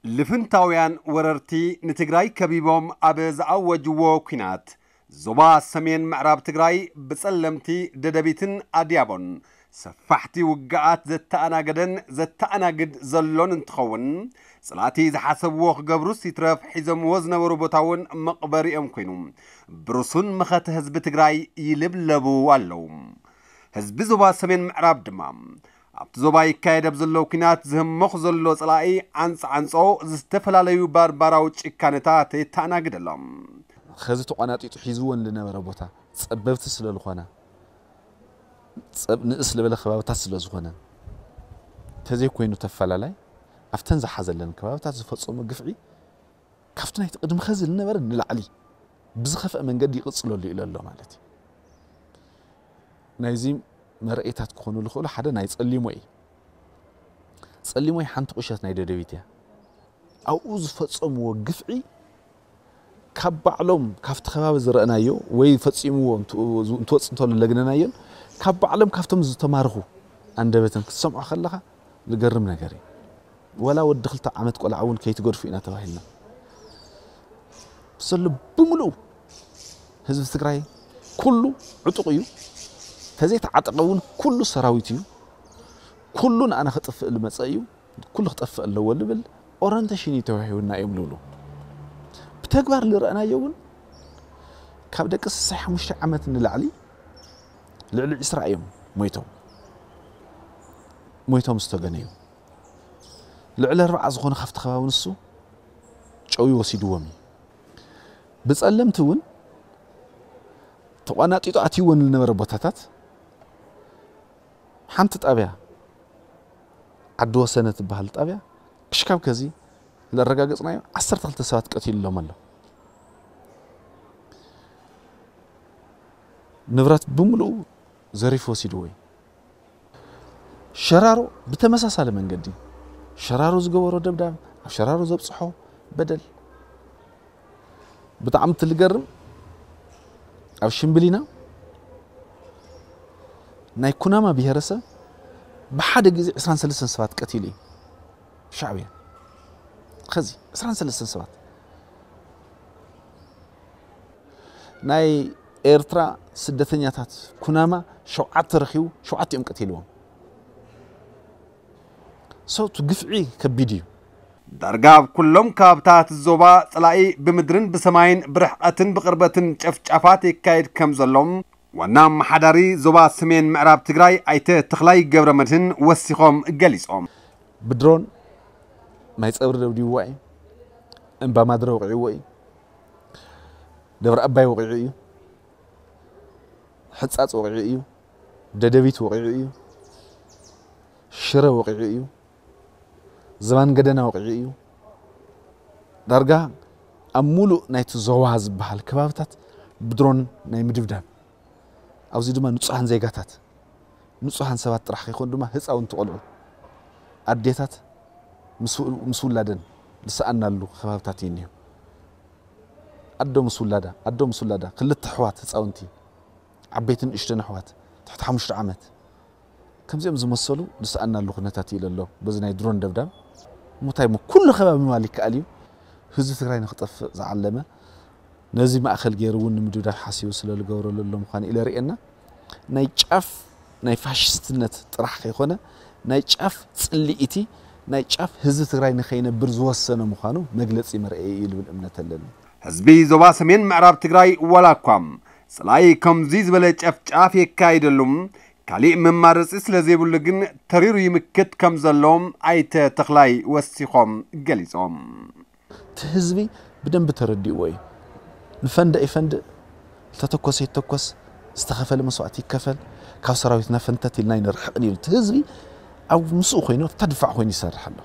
ልፍንታውያን ወረርቲ ንትግራይ ከቢቦም ኣብ ዝኣወጅዎ ኲናት፣ ዞባ ሰሜን ምዕራብ ትግራይ ብጸለምቲ ደደቢትን ኣድያቦን ሰፋሕቲ ውግኣት ዘተኣናገደን ዘተኣናግድ ዘሎን እንትኸውን፣ ጽላእቲ ዝሓሰብዎ ክገብሩስ ይትረፍ ሒዞምዎ ዝነበሩ ቦታ እውን መቕበሪኦም ኮይኑ፣ ብርሱን መኸተ ህዝቢ ትግራይ ይልብለቡ ኣለዉ። ህዝቢ ዞባ ሰሜን ምዕራብ ድማ ኣብቲ ዞባ ይካየድ ኣብ ዘሎ ኲናት ዝህመኹ ዘሎ ጸላኢ ዓንጽ ዓንጾ ዝተፈላለዩ ባርባራዊ ጭካነታት የተኣናግድ ኣሎ። ኸዚ ተቋናጢጡ ሒዝወን ዝነበረ ቦታ ጸበብቲ ስለ ዝኾና፣ ጸብ-፣ ንእስ ዝበለ ከባብታት ስለ ዝኾነ፣ እንተዘይኮይኑ ተፈላላይ ኣብተን ዝሓዘለን ከባብታት ዝፈጸሞ ግፍዒ ካብቲ ናይቲ ቅድሚ ኸዚ ዝነበረ ንላዕሊ ብዝኸፍአ መንገዲ ይቕጽለሉ ኢሉ ኣሎ ማለት እዩ። ናይዚ መርኣይታት ክኾኑ ዝኽእሉ ሓደ ናይ ጸሊሞ እዩ። ጸሊሞ ሓንቲ ቁሸት ናይ ደደቢት እያ። ኣብኡ ዝፈጸምዎ ግፍዒ ካብ ባዕሎም ካብቲ ከባቢ ዝረእናዮ ወይ ፈጺምዎ እንት-፣ እንትወጽእ እንተሎ ለግነናዮን ካብ ባዕሎም ካብቶም ዝተማርኹ ኣንደበትን ክትሰምዖ ከለኻ ዝገርም ነገር እዩ። ወላ ወዲ ክልተ ዓመት ቆልዓ እውን ከይትገድፉ ኢና ተባሂልና። ዘሎ ብምሉኡ ህዝቢ ትግራይ ኩሉ ዕጡቕ እዩ። ተዘይተዓጠቐ እውን ኩሉ ሰራዊት እዩ። ኩሉ ንኣና ክጥፍእ ዝመፀ እዩ። ኩሉ ክጠፍእ ኣለዎ ዝብል ኦረንቴሽን እዩ ተዋሂቡና እዮም ዝብሉ። ብተግባር ዝረኣናዮ እውን ካብ ደቂ ስሳይ ሓሙሽተ ዓመት ንላዕሊ ልዕሊ ዕስራ እዮም ሞይቶም፣ ሞይቶም ዝተገነዩ። ልዕሊ ኣርባዓ ዝኾነ ካብቲ ከባቢ ንሱ ጨውዩ ወሲድዎም እዩ። ብጸለምቲ እውን ተቋናጢጡ ኣትይወን ዝነበረ ቦታታት ሓንቲ ጣብያ ዓዲ ወሰነ ትበሃል ጣብያ ክሽካብ ከዚ ለረጋገጽናዮ ዓሰርተ ክልተ ሰባት ቀቲልሎም ኣሎ። ንብረት ብምሉኡ ዘሪፉ ወሲድዎ እዩ። ሸራሮ ብተመሳሳሊ መንገዲ ሸራሮ ዝገበሮ ደብዳብ፣ ኣብ ሸራሮ ዘብጽሖ በደል ብጣዕሚ ትልገርም። ኣብ ሽምብሊና ናይ ኩናማ ብሄረሰብ ብሓደ ግዜ ዕስራን ሰለስተን ሰባት ቀቲሉ እዩ ሻዕብያ። ኸዚ ዕስራን ሰለስተን ሰባት ናይ ኤርትራ ስደተኛታት ኩናማ ሸውዓተ ረኺቡ፣ ሸውዓተ እዮም ቀቲልዎም። ሰው እቲ ግፍዒ ከቢድ እዩ። ዳርጋ ኣብ ኩሎም ከባብታት ዞባ ጸላኢ ብምድርን ብሰማይን ብርሕቐትን ብቕርበትን ጨፍጫፋት የካይድ ከም ዘሎ ዋና ኣመሓዳሪ ዞባ ሰሜን ምዕራብ ትግራይ ኣይተ ተኽላይ ገብረ መድህን ወሲኾም ገሊጾም። ብድሮን ማይ ጸብሪ ደብዲብዋ እዩ። እምባ ማድረ ወቂዕዎ እዩ። ደብረ ኣባይ ወቂዑ እዩ። ሕጻጽ ወቂዑ እዩ። ደደቢት ወቂዑ እዩ። ሽረ ወቂዑ እዩ። ዝባን ገደና ወቂዑ እዩ። ዳርጋ ኣብ ሙሉእ ናይቲ ዞባ ዝበሃል ከባብታት ብድሮን ናይ ምድብዳብ፣ ኣብዚ ድማ ንጹሃን ዜጋታት፣ ንጹሃን ሰባት ጥራሕ ከይኮኑ ድማ ህፃውንቲ ቆልዑ፣ ኣዴታት ምስ፣ ምስ ውላደን ዝሰኣናሉ ከባብታት እዩ እኒሆ። ኣዶ ምስ ውላዳ፣ ኣዶ ምስ ውላዳ፣ ክልተ ኣሕዋት ህፃውንቲ፣ ዓበይትን ንእሽተን ኣሕዋት ትሕቲ ሓሙሽተ ዓመት፣ ከምዚኦም ዝመሰሉ ዝሰኣናሉ ኩነታት እዩ ዘሎ። በዚ ናይ ድሮን ደብዳብ ምታይ እሞ ኩሉ ከባቢ ምባል ይከኣል እዩ። ህዝቢ ትግራይ ንክጠፍእ ዝዓለመ፣ ነዚ ማእኸል ገይሩ እውን ንምድብዳብ ሓሲቡ ስለ ዝገብረሉ ዘሎ ምዃኑ ኢለ ርእየና። ናይ ጫፍ ናይ ፋሽስትነት ጥራሕ ከይኮነ፣ ናይ ጫፍ ጽልኢቲ፣ ናይ ጫፍ ህዝቢ ትግራይ ንኸይነብር ዝወሰነ ምዃኑ መግለጺ መርኣዪ እዩ ዝብል እምነት ኣለኒ። ህዝቢ ዞባ ሰሜን ምዕራብ ትግራይ ዋላ እኳ ጸላኢ ከምዚ ዝበለ ጨፍጫፍ የካይደሉ ካሊእ መማረፂ ስለ ዘይብሉ ግን ተሪሩ ይምክት ከም ዘሎ ኣይተ ተኽላይ ወሲኾም ገሊጾም። እቲ ህዝቢ ብደንቢ ተረዲእዎ እዩ። ንፈንድእ ይፈንድእ፣ ዝተተኮሰ ይተኮስ፣ ዝተኸፈለ መስዋእቲ ይከፈል፣ ካብ ሰራዊትና ፈንተት ኢልና ኣይንርሕቕን እዩ። እቲ ህዝቢ ኣብ ምስኡ ኮይኑ ተድፋዕ ኮይኑ ይሰርሕ ኣሎ።